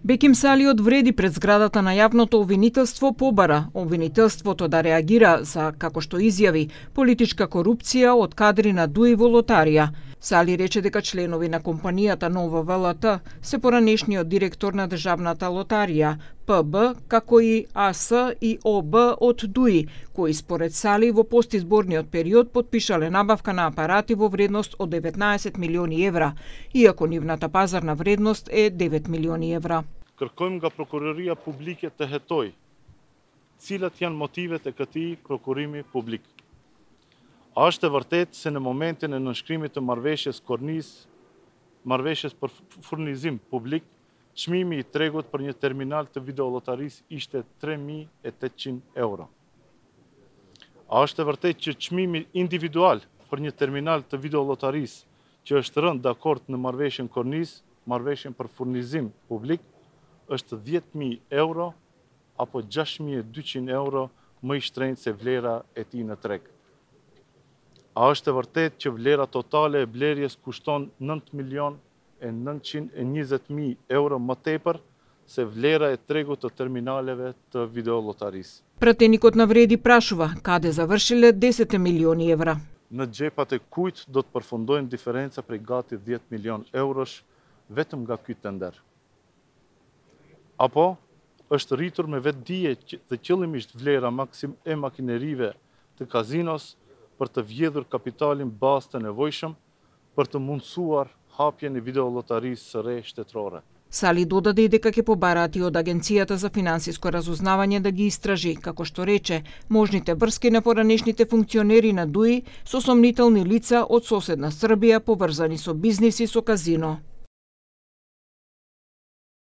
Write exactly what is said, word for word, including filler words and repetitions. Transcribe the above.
Беким Сали одвреди пред зградата на јавното обвинителство побара обвинителството да реагира за, како што изјави, политичка корупција од кадри на ДУИ во лотарија. Сали рече дека членови на компанијата Нова ВЛТ се поранешниот директор на државната лотарија, П Б, како и А С и О Б од ДУИ, кои според Сали во постизборниот период потпишале набавка на апарати во вредност од деветнаесет милиони евра, иако нивната пазарна вредност е девет милиони евра. Kërkojmë nga prokuroria publike të hetoj cilat janë motivet e këtij prokurimi publik. A është e vërtetë se në momentin e nënshkrimit të marrëveshjes Kornis, marrëveshjes për furnizim publik, çmimi i tregut për një terminal të videollotarisë ishte tre mijë e tetëqind euro. A është e vërtetë që çmimi individual për një terminal të videollotarisë që është rënë dakord në marrëveshjen Kornis, marrëveshjen për furnizim publik, është dhjetë mijë euro apo gjashtë mijë e dyqind euro më i shtrenjtë se vlera e tij në treg. A është e vërtetë që vlera totale e blerjes kushton nëntë milion e nëntëqind e njëzet mijë euro më tepër se vlera e tregut të terminaleve të videollotarisë? Пратеникот на Вреди прашува каде завршиле десет милиони евра. Në xhepat e kujt do të përfundojnë diferenca prej gati dhjetë milion eurosh vetëm nga ky tender? Apo është rritur me vetdije dhe qëllimisht vlera maksim e makinerive të kazinos për të vjedhur kapitalin bazë të nevojshëm për të mundësuar hapjen e videollotarisë së re shtetërore. Сали додаде и дека ќе побараат и од Агенцијата за финансиско разузнавање да ги истражи, како што рече, можните врски на поранешните функционери на ДУИ со сомнителни лица од соседна Србија поврзани со бизниси со казино.